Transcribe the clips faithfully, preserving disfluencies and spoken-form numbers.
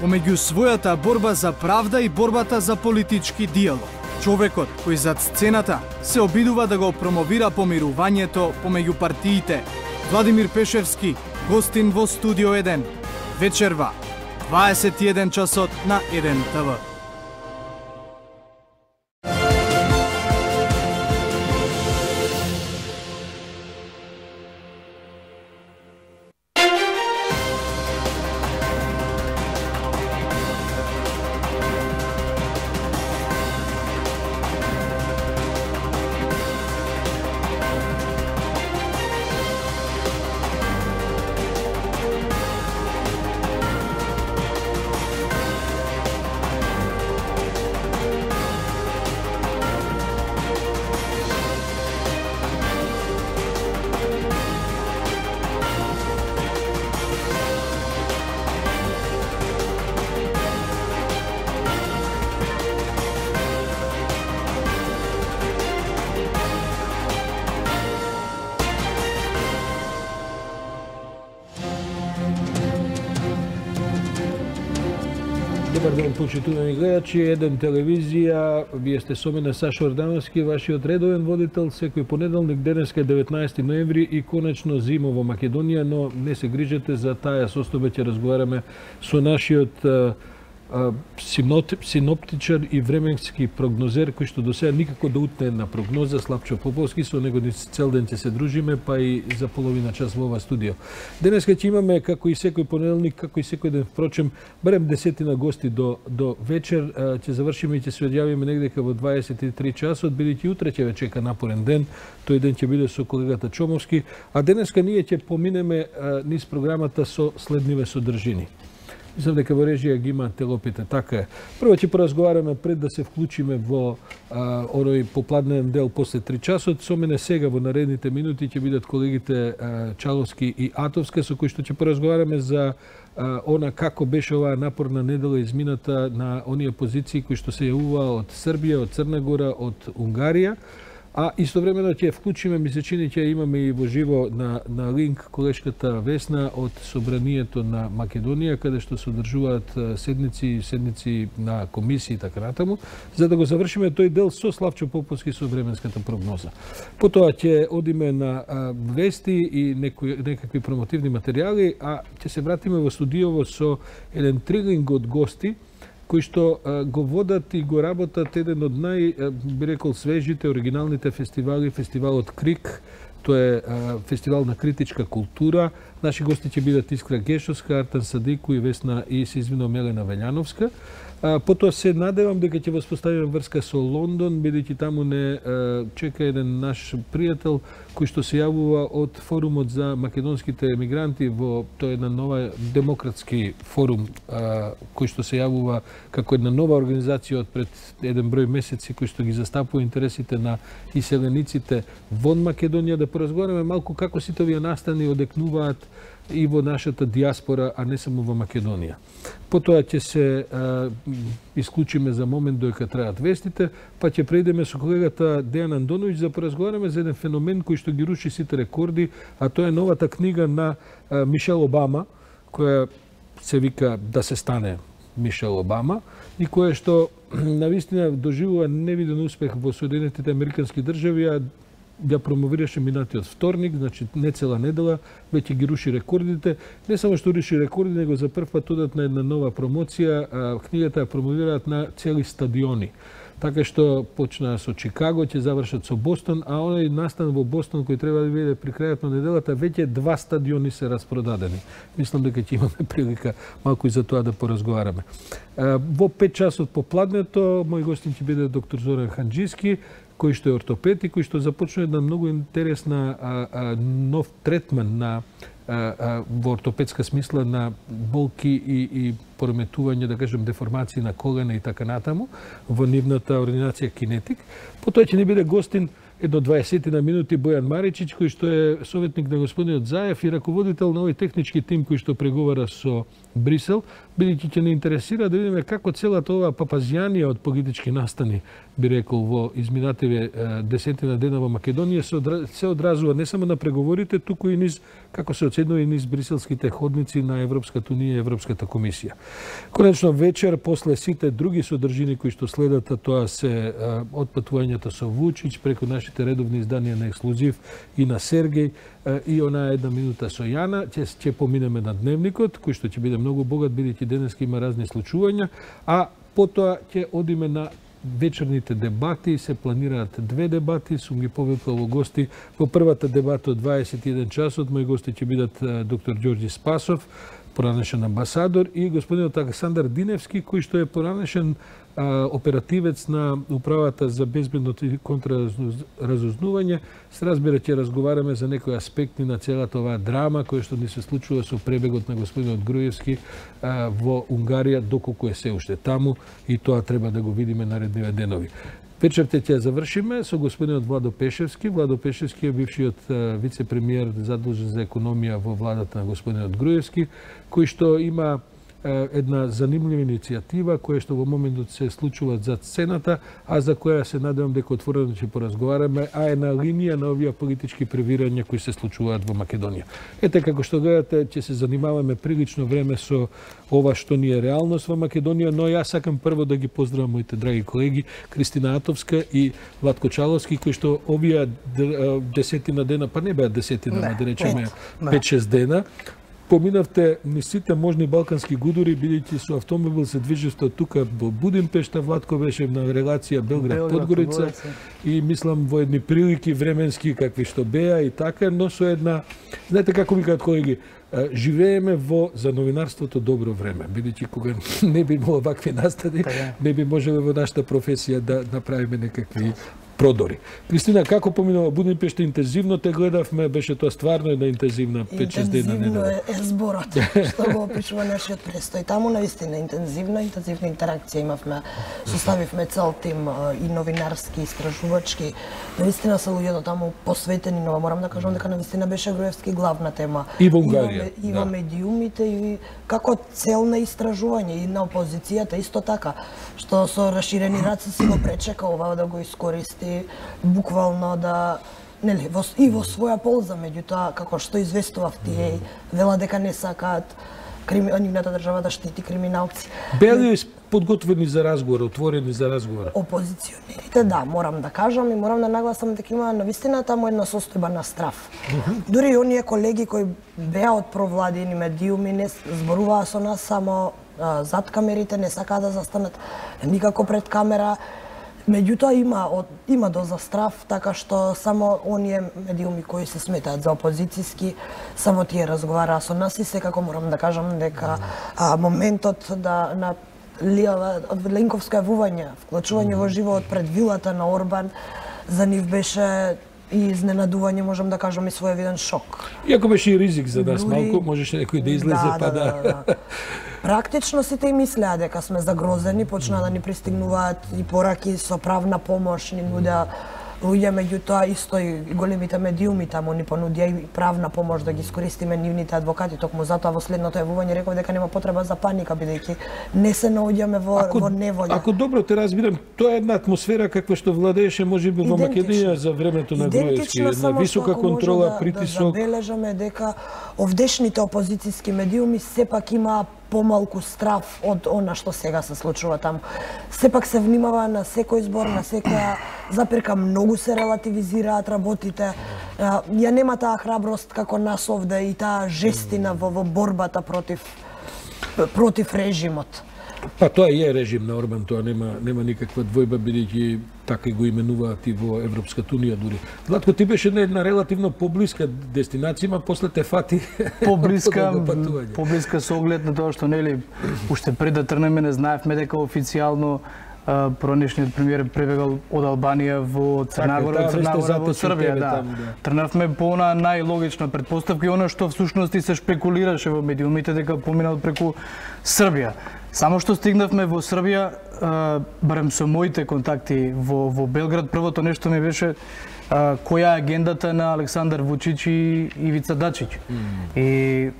помеѓу својата борба за правда и борбата за политички диалог. Човекот кој зад сцената се обидува да го промовира помирувањето помеѓу партиите. Владимир Пешевски, гостин во Студио еден. Вечерва, дваесет и еден часот на еден Т В. Добар ден, почитувани гледачи, Еден телевизија, вие сте со мене Сашо Ордановски, вашиот редовен водител, секој понеделник, денеска е деветнаесети ноември и конечно зима во Македонија, но не се грижете, за таа состојба ќе разговараме со нашиот синоптичар и временски прогнозер, кој што до сега никако да утне една прогноза, Славчо Поповски, со него цел ден ќе се дружиме, па и за половина час во ова студио. Денеска ќе имаме, како и секој понеделник, како и секој ден, впрочем, барем десетина гости до, до вечер, ќе завршиме и ќе се одјавиме негдека во дваесет и три часот, бидејќи утре ќе ве чека напорен ден, тој ден ќе биде со колегата Чомовски, а денеска ние ќе поминеме низ програмата со следниве содржини. Мислам дека во режија ги има телопите, така е. Прво ќе поразговараме пред да се вклучиме во а, оној попладнен дел после три часот. Со мене сега во наредните минути ќе бидат колегите а, Чаловски и Атовска, со кои што ќе поразговараме за а, она како беше оваа напорна недела измината на оние позиции кои што се јавува од Србија, од Црна Гора, од Унгарија. А истовремено ќе вклучиме, ми се чини, ќе имаме и во живо на, на линк колешката Весна од Собранието на Македонија, каде што се одржуваат седници, седници на комисии и така натаму, за да го завршиме тој дел со Славчо Поповски со временската прогноза. Потоа ќе одиме на а, вести и некои, некакви промотивни материјали, а ќе се вратиме во студиово со еден трилинг од гости, кои што а, го водат и го работат еден од нај, а, би рекол, свежите, оригиналните фестивали, фестивалот Крик, тоа е а, фестивал на критичка култура. Наши гости ќе бидат Искра Гешовска, Артан Садику и Весна и се извинувам Мелена Велјановска. А, потоа се надевам дека ќе воспоставиме врска со Лондон, бидејќи таму не а, чека еден наш пријател кој што се јавува од форумот за македонските емигранти во тој една нова демократски форум а, кој што се јавува како една нова организација од пред еден број месеци кој што ги застапува интересите на иселениците вон Македонија, да поразговараме малку како сите овие настани одекнуваат и во нашата диаспора, а не само во Македонија. Потоа ќе се а, исклучиме за момент доека траат вестите, па ќе преидеме со колегата Дејан Андоновиќ за поразговараме за еден феномен кој што ги руши сите рекорди, а тоа е новата книга на а, Мишел Обама, која се вика Да се стане Мишел Обама, и која што навистина доживува невиден успех во Соединетите Американски држави, а ја промовираше минатиот вторник, значи не цела недела, веќе ги руши рекордите. Не само што руши рекорди, него за прв пат одат на една нова промоција, а книгата ја промовираат на цели стадиони. Така што почнаа со Чикаго, ќе завршат со Бостон, а оној настан во Бостон кој треба да биде при крајот на неделата, веќе два стадиони се распродадени. Мислам дека ќе имаме прилика малку и за тоа да поразговараме. Во пет часот попладнето, мој гостин ќе биде доктор Зоран Ханџиски, кој што е ортопед и кој што започна една многу интересна а, а, нов третман на а, а, во ортопедска смисла на болки и, и пореметување, да кажем, деформации на колена и така натаму, во нивната ординација Кинетик. Потоа ќе ни биде гостин едно дваесет на минути Бојан Маричич, кој што е советник на господинот Заев и раководител на овој технички тим кој што преговара со Брисел, бидејќи ќе не интересира да видиме како целата оваа папазијанија од политички настани, би рекол, во изминативе десетина дена во Македонија се одразува не само на преговорите, туку и низ, како се оценува, и низ бриселските ходници на Европската унија и Европската комисија. Конечно вечер, после сите други содржини кои што следат, тоа се отпатувањето со Вучич преку нашите редовни изданија на Ексклузив и на Сергеј и она една минута со Јана, ќе ќе поминеме на дневникот, кој што ќе биде многу богат, бидејќи денеска има разни случувања, а потоа ќе одиме на вечерните дебати. Се планираат две дебати, сум ги повикал во гости. Во првата дебата од дваесет и еден часот мои гости ќе бидат доктор Ѓорѓи Спасов, поранешен амбасадор, и господинот Александар Диневски, кој што е поранешен а, оперативец на управата за безбедност и контраразузнување. Се разбира, ќе разговараме за некои аспекти на целата оваа драма која што ни се случува со пребегот на господинот Груевски а, во Унгарија, доколку е се уште таму, и тоа треба да го видиме наредниве денови. Вечерте ќе завршиме со господинот Владо Пешевски. Владо Пешевски е бившиот вице-премиер задолжен за економија во владата на господинот Груевски, кој што има една занимлива иницијатива која што во моментот се случува за сцената, а за која се надевам дека отворено ќе поразговараме, а е на линија на овие политички превирања кои се случуваат во Македонија. Ете, како што гледате, ќе се занимаваме прилично време со ова што ни е реалност во Македонија, но јас сакам прво да ги поздравам моите драги колеги Кристина Атовска и Владко Чаловски, кои што овие десетина дена, па не беа десетина, да речеме пет-шест дена, поминавте низ сите можни балкански гудури, бидејќи со автомобил се движевте од тука во Будимпешта. Владко беше на релација Белград-Подгорица и мислам во едни прилики временски какви што беа и така, но со една, знаете како викаат колеги, живееме во за новинарството добро време, бидејќи кога не би имало вакви настани, не би можеле во нашата професија да направиме некакви продори. Кристина, како поминува Будимпешта? Интензивно те гледавме, беше тоа стварно една интензивна пет-шест дена недела. Интензивно е зборот, што го опишува нашиот престој. Таму наистина интензивно, интензивна интеракција имавме, составивме цел тим и новинарски, истражувачки. Наистина се луѓето таму посветени, но морам да кажам дека наистина беше Груевски главна тема. И во Унгарија. И во медиумите, и како цел на истражување, и на опозицијата исто така, што со расширени раци си го пречека ова да го искористи буквално да, нели, во, и во своја полза, меѓутоа, како што известував тие, вела дека не сакаат нивната држава да штити криминалци. Беа ли подготвени за разговор, отворени за разговор? Опозиционерите, да, морам да кажам и морам да нагласам дека има навистина таму една состојба на страв. Дури и оние колеги кои беа од провладени медиуми не зборуваа со нас само а, зад камерите, не сакаа да застанат никако пред камера. Меѓутоа има од, има доза страв, така што само оние медиуми кои се сметаат за опозицијски, само тие разговараа со нас и секако морам да кажам дека а, моментот да на Ленковско јавување, вклучување во живоот пред вилата на Орбан, за нив беше и изненадување, можам да кажам, и своевиден шок. Иако беше и ризик за нас малку, можеше некој да излезе, да, па да... да, да, да. Практично сите и мислеа дека сме загрозени, почнаа да ни пристигнуваат и пораки со правна помош, ни нудеа луѓе, меѓутоа исто и големите медиуми таму ни понудија и правна помош да ги искористиме нивните адвокати. Токму затоа во следното јавување реков дека нема потреба за паника, бидејќи не се наоѓаме во, ако, во неволја. Ако добро те разбирам, тоа е една атмосфера каква што владееше можеби во Македонија за времето на Груевски, една висока контрола, да, притисок. Да забележаме дека овдешните опозицијски медиуми сепак имаа помалку страв од она што сега се случува таму. Сепак се внимава на секој збор, на секоја запирка, многу се релативизираат работите. Ја нема таа храброст како нас овде и таа жестина во, во борбата против против режимот. Па тоа е режим на Орбан, тоа нема нема никаква двојба, бидејќи така и го именуваат и во Европската унија дури. Владко, ти беше на една релативно поблиска дестинација, ма после те фати поблиска, поблиска со оглед на тоа што нели уште пред да трнеме не знаевме дека официјално поранешниот премиер пребегал од Албанија во Црна Гора, од Црна Гора во Србија, да. Трнавме по она најлогична претпоставка и она што всушност и се шпекулираше во медиумите дека поминал преку Србија. Само што стигнавме во Србија, барем со моите контакти во, во Белград, првото нешто ми беше која е агендата на Александар Вучич и Ивица Дачич. Mm. И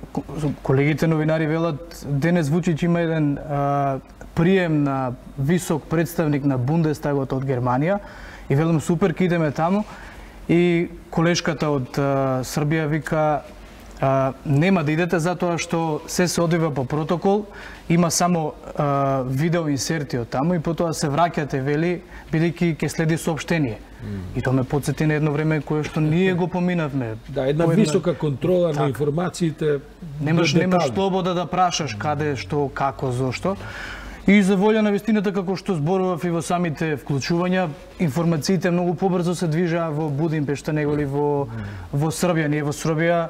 колегите новинари велат, денес Вучич има еден а, прием на висок представник на Бундестагот од Германија и велам супер, ке идеме таму. И колешката од а, Србија вика, а, нема да идете затоа што се се одвива по протокол, има само а, видео инсерти од таму и потоа се враќате, вели, бидејќи ќе следи соопштение. Mm. И тоа ме потсети на едно време кое што ние го поминавме. Да, една Поедна... висока контрола так. на информациите. Немаш немаш слобода да прашаш каде, што, како, зошто. И за волја на вистината, како што зборував и во самите вклучувања, информациите многу побрзо се движаа во Будимпешта него ли во во Србија. Ние во Србија,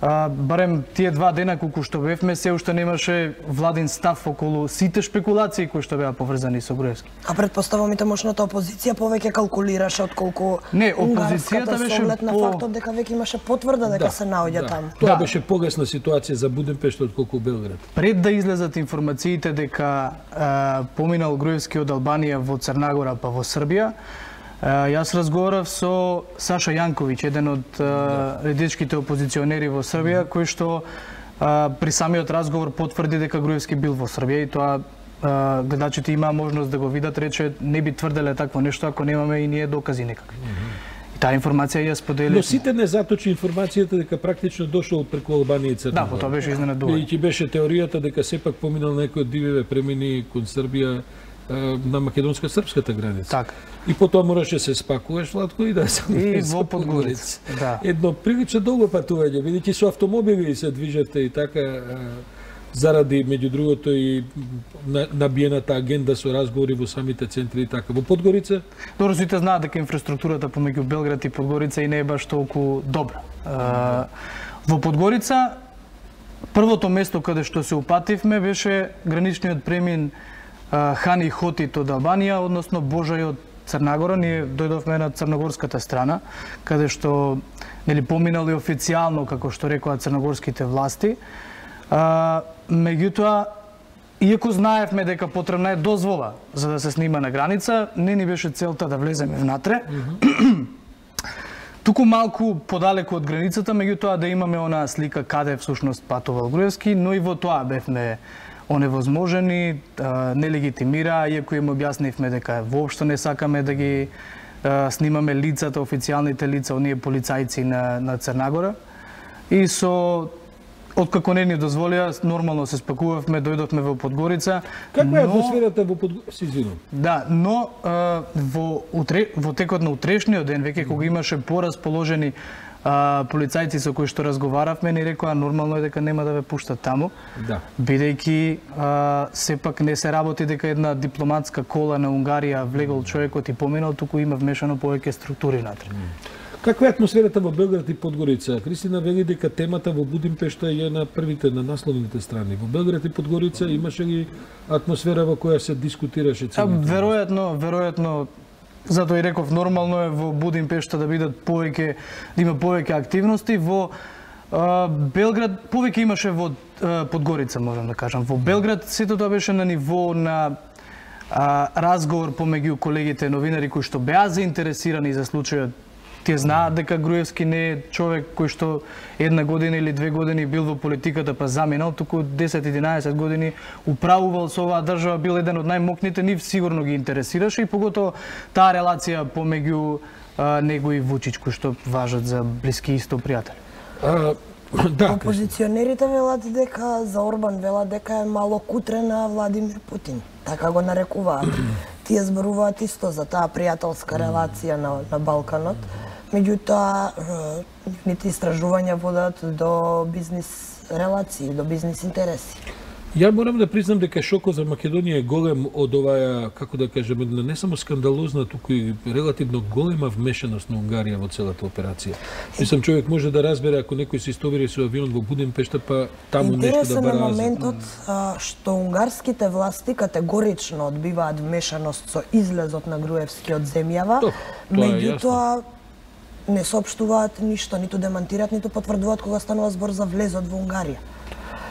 а, барем тие два дена колку што бевме, се уште немаше владин став околу сите шпекулации кои што беа поврзани со Груевски. А предпоставам и тамошната опозиција повеќе калкулираше отколку не, опозицијата беше по... на фактот дека веќе имаше потврда дека да, се наоѓа да. таму. Тоа да. беше погасна ситуација за Будимпешта отколку Белград. Пред да излезат информациите дека а, поминал Груевски од Албанија во Црнагора па во Србија, јас разговарав со Саша Јанковиќ, еден од редичките опозиционери во Србија, кој што а, при самиот разговор потврди дека Груевски бил во Србија и тоа а, гледачите имаа можност да го видат, рече не би тврделе такво нешто ако немаме и ние докази некакви. Mm -hmm. И таа информација ја сподели. Но сите не заточи информацијата дека практично дошол преку Албанија и Црна Гора. Да, тоа беше изненадување. И ќе беше теоријата дека сепак поминал некој од дививе премини кон Србија на македонска-српската граница. Так. И потоа мораше се спакуваш, Владко, и да се и во Подгорица. Да. Едно прилично долго патување, бидејќи со автомобили се движете и така заради меѓу другото и набиената агенда со разговори во самите центри и така. Во Подгорица? Добро, сите знаат дека инфраструктурата помеѓу Белград и Подгорица и не е баш толку добра. А, во Подгорица првото место каде што се упативме беше граничниот премин Хани Хотит од Албанија, односно Божај од Црнагора. Ние дојдовме на црногорската страна, каде што нели поминали официјално, како што рекоа црногорските власти. А, меѓутоа, иако знаевме дека потребна е дозвола за да се снима на граница, не ни беше целта да влеземе внатре. Mm-hmm. Туку малку подалеку од границата, меѓутоа да имаме онаа слика каде всушност патувал Груевски, но и во тоа бевме оневозможени, нелегитимира, иако им објаснивме дека воопшто не сакаме да ги а, снимаме лицата, официјалните лица, оние полицајци на, на Црнагора. И со откако не ни дозволија, нормално се спакувавме, дојдовме во Подгорица. Каква е атмосферата во Подгорица? Да, но а, во, утре, во текот на утрешниот ден, веќе кога имаше порасположени А, полицајци со кои што разговаравме ни рекоа нормално е дека нема да ве пуштат таму. Да. Бидејќи а, сепак не се работи дека една дипломатска кола на Унгарија влегол човекот и поминал, туку има вмешано повеќе структури натре. Каква е атмосферата во Белград и Подгорица? Кристина вели дека темата во Будимпешта е на првите, на насловните страни. Во Белград и Подгорица имаше ли атмосфера во која се дискутираше целиот? Веројатно, веројатно, затоа и реков, нормално е во Будимпешта да бидат повеќе, да има повеќе активности. Во а, Белград повеќе имаше во а, Подгорица, можам да кажам. Во Белград сето тоа беше на ниво на а, разговор помеѓу колегите новинари кои што беа заинтересирани за случајот. Тие знаат дека Груевски не е човек кој што една година или две години бил во политиката па заминал, туку десет-единаесет години управувал со оваа држава, бил еден од најмокните, нив сигурно ги интересираше и поготово таа релација помеѓу а, него и Вучич, кои што важат за Блиски исто пријатели. А, да, опозиционерите велат дека за Орбан велат дека е мало кутре на Владимир Путин. Така го нарекуваат. Тие зборуваат исто за таа пријателска релација на, на Балканот. Меѓутоа, нивните истражувања водат до бизнис релации, до бизнис интереси. Ја морам да признам дека шокот за Македонија е голем од оваа, како да кажем, не само скандалозна, туку и релативно голема вмешаност на Унгарија во целата операција. Мислам, човек може да разбере ако некој се истовари со авион во Будимпешта, па таму нешто да барази. Интересен е моментот а, што унгарските власти категорично одбиваат вмешаност со излезот на Груевски од земјава, меѓутоа не соопштуваат ништо, ниту демантираат, ниту потврдуваат кога станува збор за влезот во Унгарија.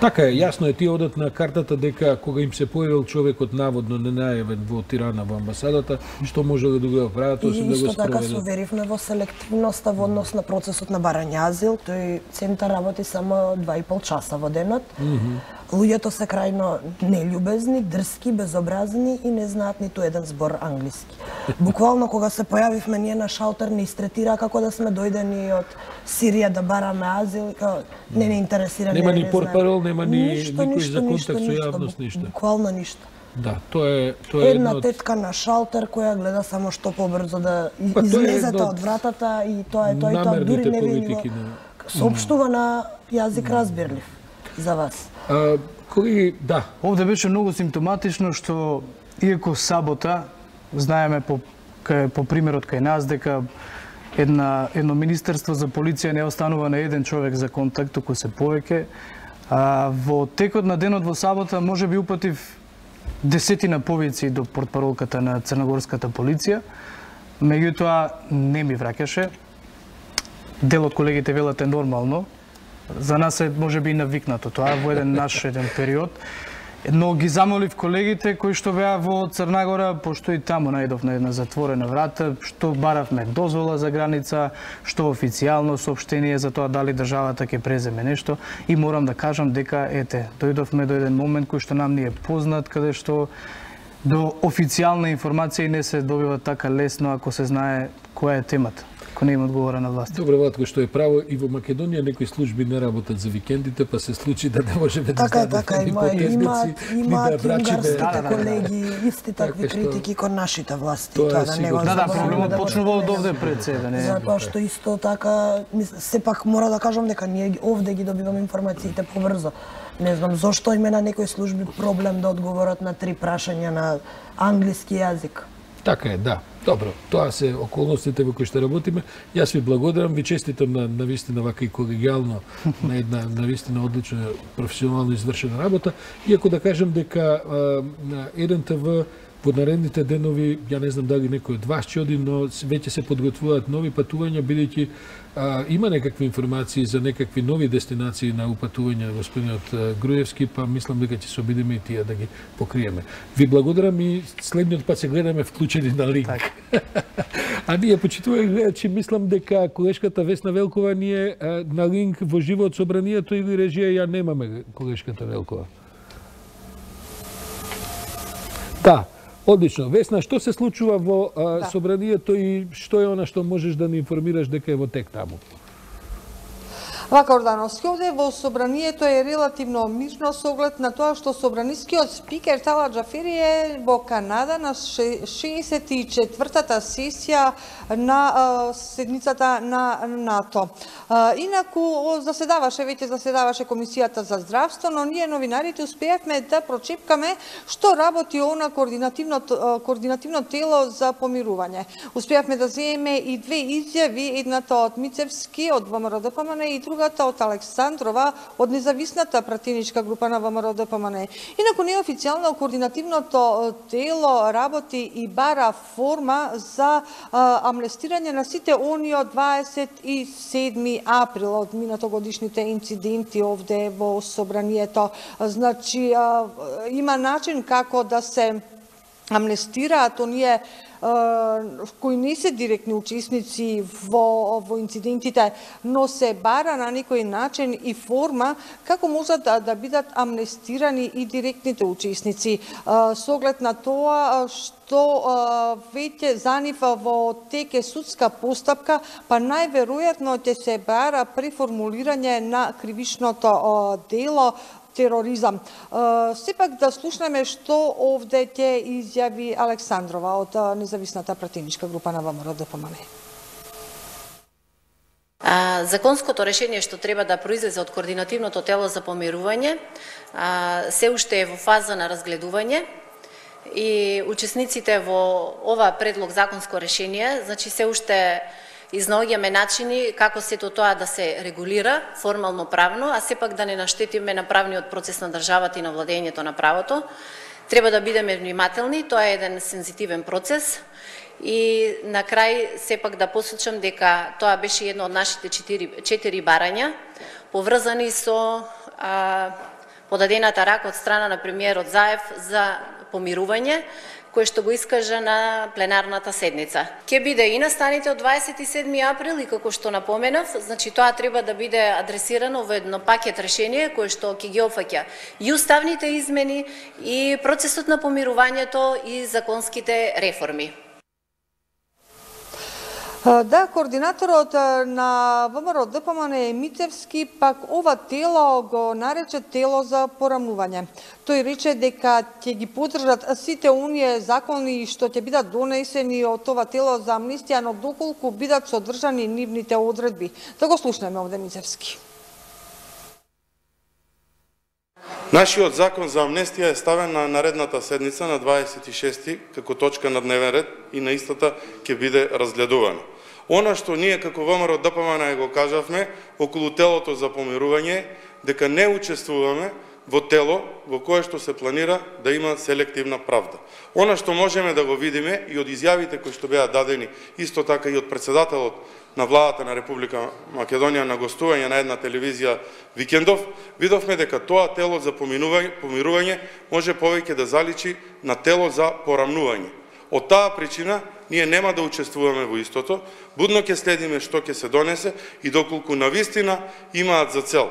Така е, јасно е, тие одат на картата дека кога им се појавил човекот наводно ненајавен во Тирана во амбасадата, што можеле да го прават, освен да го спроведат. И исто така се уверивме во селективноста во однос на процесот на барање азил. Тој центар работи само два и пол часа во денот. Mm -hmm. Луѓето се крајно нељубезни, дрски, безобразни и не знаат ниту еден збор англиски. Буквално кога се појавивме ние на шалтер не истретира како да сме дојдени од Сирија да бараме азил, не не интересира. Нема не, ни портпарол, нема ни ништо, никој ништо, за контакт ништо, со ништо, јавност, ништо. Буквално ништо. Да, тоа е тоа е една едно... тетка на шалтер која гледа само што побрзо да па, излезете од вратата и тоа е тоа и тоа дури не ви на... соопштува на јазик разбирлив за вас. А, кои, да. Овде беше многу симптоматично што иако сабота знаеме по кај, по примерот кај нас дека една едно министерство за полиција не останува на еден човек за контакт, туку се повеќе. А, во текот на денот во сабота може би упатив десетина повици до портпаролката на црногорската полиција. Меѓутоа не ми враќаше. Дел од колегите велат е нормално. За нас е можеби и навикнато тоа во еден наш еден период. Но ги замолив колегите кои што беа во Црнагора, пошто и таму најдов на една затворена врата, што баравме дозвола за граница, што официјално соопштение за тоа дали државата ќе преземе нешто, и морам да кажам дека ете, дојдовме до еден момент кој што нам ни е познат, каде што до официјална информација не се добива така лесно ако се знае која е темата, ако не има одговора на власт. Добро, Владко, што е право, и во Македонија некои служби не работат за викендите, па се случи да не можеме да така, знаеме така, има, има, има унгарските колеги исти такви така, критики кон нашите власти. Тоа, тоа да не го да, да, проблемот да почнува од овде пред себе, не. Затоа што исто така, сепак мора да кажам дека ние овде ги добиваме информациите побрзо. Не знам зошто има на некои служби проблем да одговорат на три прашања на англиски јазик. Така е, да. Добро, тоа се околностите во кои што работиме. Јас ви благодарам, ви честитам на навистина вака и колегијално на една навистина одлична професионално извршена работа. Иако да кажам дека на еден те ви во наредните денови, ја не знам дали некој од вас ќе оди, но веќе се подготвуваат нови патувања, бидејќи а, има некакви информации за некакви нови дестинации на упатување господинот Груевски, па мислам дека ќе се обидиме и тие да ги покриеме. Ви благодарам и следниот пат се гледаме вклучени на линк. А ние, почитувајќи гледачи, мислам дека колешката Весна Велкова ние а, на линк во живо од собранието или режија ја немаме колешката Велкова. Да. Одлично. Весна, што се случува во а, да. собранието и што е она што можеш да ни информираш дека е во тек таму? Вака, Ордановски, овде во собранието е релативно мирно со оглед на тоа што собранискиот спикер Тала Џафери е во Канада на шеесет и четвртата сесија на а, седницата на НАТО. А, инаку заседаваше, веќе заседаваше Комисијата за здравство, но ние новинарите успеавме да прочепкаме што работи она координативно, координативно тело за помирување. Успеавме да земеме и две изјави, едната од Мицевски од ВМРО-ДПМН и другата од Александрова од независната пратеничка група на ВМРО-ДПМН. Инаку неофицијално координативното тело работи и бара форма за а, амнестирање на сите они од дваесет и седми април од минатогодишните инциденти овде во собранието. Значи а, има начин како да се амнестираат оние кои не се директни учесници во, во инцидентите, но се бара на некој начин и форма како можат да, да бидат амнестирани и директните учесници. Со оглед на тоа што веќе за нив во тек е судска постапка, па најверојатно ќе се бара преформулирање на кривичното дело тероризам. Сепак да слушнеме што овде ќе изјави Александрова од независната пратеничка група на ВМРО-ДПМН. Законското решение што треба да произлезе од координативното тело за помирување се уште е во фаза на разгледување и учесниците во ова предлог законско решение, значи се уште изнаоѓаме начини како сето тоа да се регулира формално правно, а сепак да не наштетиме на правниот процес на државата и на владењето на правото. Треба да бидеме внимателни, тоа е еден сензитивен процес и на крај сепак да посочам дека тоа беше едно од нашите четири, четири барања поврзани со а, подадената рака од страна на премиерот Заев за помирување, кој што го искажа на пленарната седница. Ке биде и настаните од дваесет и седми април и како што напоменав, значи тоа треба да биде адресирано во едно пакет решение кој што ќе ги опфаќа и уставните измени и процесот на помирувањето и законските реформи. Да, координаторот на ВМРО Д П М Н Мицевски пак ова тело го нарече тело за порамнување. Тој рече дека ќе ги поддржат сите оние закони што ќе бидат донесени од ова тело за амнистија, но доколку бидат содржани нивните одредби. Да го слушнеме овде Мицевски. Нашиот закон за амнестија е ставен на наредната седница на дваесет и шести како точка на дневен ред и на истата ќе биде разгледувана. Она што ние како ВМРО Д П М Н го кажавме околу телото за помирување, дека не учествуваме во тело во кое што се планира да има селективна правда. Она што можеме да го видиме и од изјавите кои што беа дадени, исто така и од председателот на владата на Република Македонија на гостување на една телевизија викендов, видовме дека тоа тело за помирување може повеќе да заличи на тело за порамнување. Од таа причина ние нема да учествуваме во истото, будно ќе следиме што ќе се донесе и доколку навистина имаат за цел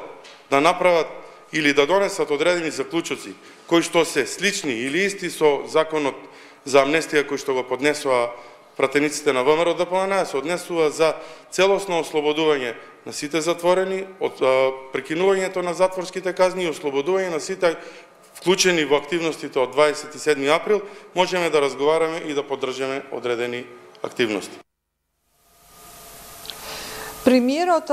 да направат или да донесат одредени заклучоци кои што се слични или исти со законот за амнестија кој што го поднесува пратениците на ВМРО Д П М Н, се однесува за целосно ослободување на сите затворени, од прекинувањето на затворските казни и ослободување на сите вклучени во активностите од дваесет и седми април, можеме да разговараме и да поддржаме одредени активности. Премиерот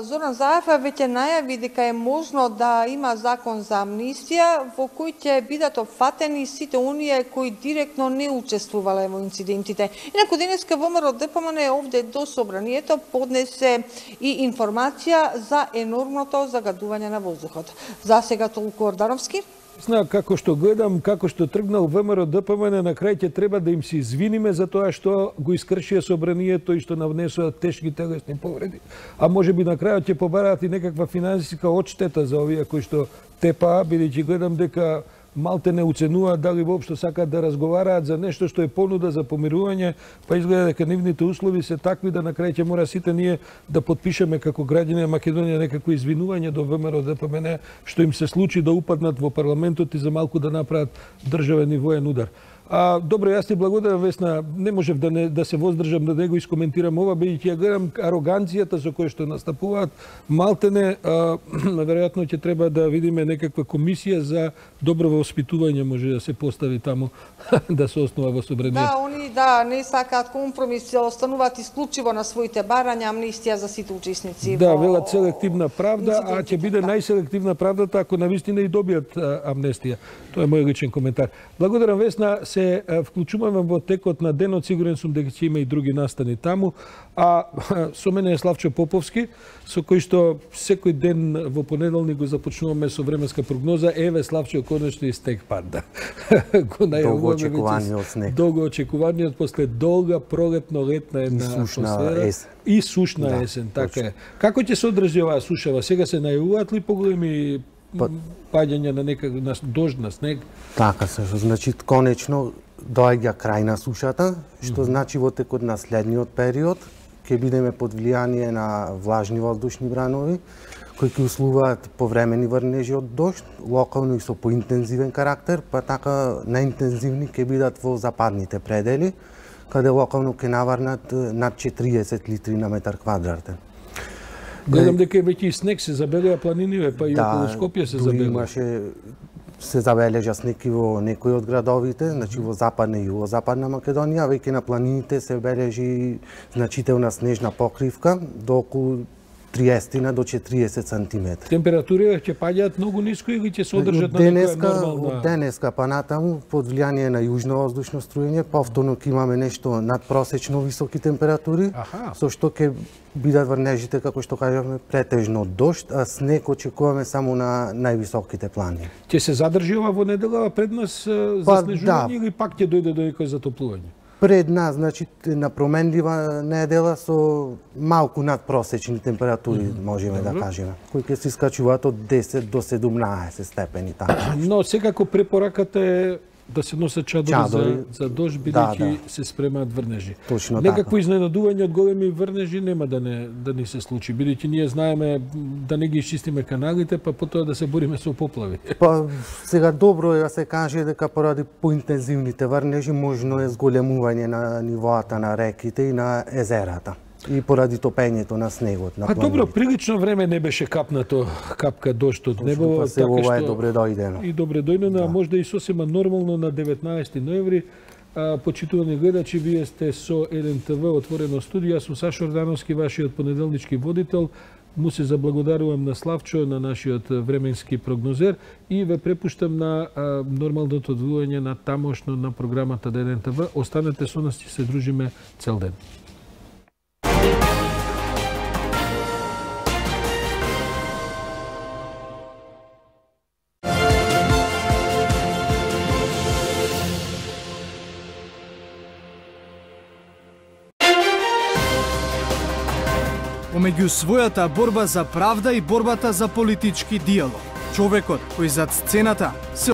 Зоран Заев веќе најави дека е можно да има закон за амнистија во кој ќе бидат опфатени сите оние кои директно не учествувале во инцидентите. Инаку денеска ВМРО Д П М Н овде до собранието поднесе и информација за енормното загадување на воздухот. За сега толку Ордановски. Зна, како што гледам, како што тргнал ВМРО Д П М Н, на крај ќе треба да им се извиниме за тоа што го искршија собранието и што навнесуваат тешки телесни повреди. А може би на крајот ќе побараат и некаква финансиска одштета за овие кои што тепаа, бидејќи гледам дека малте не уценуваат дали воопшто сакаат да разговараат за нешто што е понуда за помирување, па изгледа дека нивните услови се такви да на крај ќе мора сите ние да подпишеме како граѓани на Македонија некакво извинување до ВМРО Д П М Н што им се случи да упаднат во парламентот и за малку да направат државен и воен удар. А, добро, јас ти благодарам, Весна, не можев да, не, да се воздржам да не го искоментирам ова, бидејќи ја гледам ароганцијата со која што настапуваат, малтене, а, веројатно ќе треба да видиме некаква комисија за добро воспитување, може да се постави таму, да се основа во собранието. Да, они да не сакаат компромис, остануваат исклучиво на своите барања, амнистија за сите учесници. Да, во... велат селективна правда, а ќе биде најселективна правдата ако навистина и добијат амнестија. Тоа е мој личен коментар. Благодарам, Весна. Се вклучуваме во текот на денот, сигурен сум дека ќе има и други настани таму, а со мене е Славчо Поповски, со кој што секој ден во понеделник го започнуваме со временска прогноза. Еве, Славчо, конечно и снег пада. Долго очекуваниот снег. Долго очекуваниот после долга пролетно-летна една атмосфера. Есен. И сушна да, есен, така е. Како ќе се одржи оваа сушава? Сега се најавуваат ли поголеми па... паѓања на некак на дожд, на снег? Така се, значи конечно доаѓа крај на сушата, што mm -hmm. значи во текот на следниот период ќе бидеме под влијание на влажни воздушни бранови кои ќе услуваат повремени врнежи од дожд, локално и со поинтензивен карактер, па така најинтензивни ќе бидат во западните предели, каде локално ќе наврнат над четириесет литри на метар квадратен. Гледам дека веќе и снег се забелеа планиниве, па и да, околу Скопје се забелеа. Имаше се забележа снег и во некои од градовите, значи во западна и југозападна Македонија, веќе на планините се бележи значителна снежна покривка до околу триесет до четириесет сантиметри. Температурите ќе паѓаат многу ниско или ќе се одржат на некоја нормална? Од денеска па натаму, под влијание на јужно воздушно струјење, повторно ќе имаме нешто надпросечно високи температури, Аха. со што ќе бидат врнежите, како што кажавме, претежно дожд, а снег очекуваме само на највисоките планини. Ќе се задржи ова во неделава пред нас за па, снежување да. или пак ќе дојде до некој затоплување? Пред нас, значи, на променлива недела со малку надпросечни температури, mm -hmm. можеме Добро. да кажеме, кои ќе се искачуваат од десет до седумнаесет степени таму. Но секако препораката е да се носат чадори, чадори. за, за дожд, бидејќи да, да. се спремаат врнежи. Точно Некакво така. изненадување од големи врнежи нема да не да ни се случи, бидејќи ние знаеме да не ги изчистиме каналите, па потоа да се бориме со поплави. Па сега добро е да се каже дека поради поинтензивните врнежи можно е зголемување на нивоата на реките и на езерата. И поради топењето на снегот на планините. Па добро, прилично време не беше капнато капка дожд од небо, па се ова е добре дојдено. И добре дојдено, да. а можда и сосема нормално на деветнаесети ноември. А, почитувани гледачи, вие сте со еден те ве отворено студио. Јас сум Сашо Ордановски, вашиот понеделнички водител. Му се заблагодарувам на Славчо, на нашиот временски прогнозер и ве препуштам на а, нормалното одвојање на тамошно на програмата на еден те ве. Останете со нас и се дружиме цел ден. Помеѓу својата борба за правда и борбата за политички диалог, човекот кој зад сцената се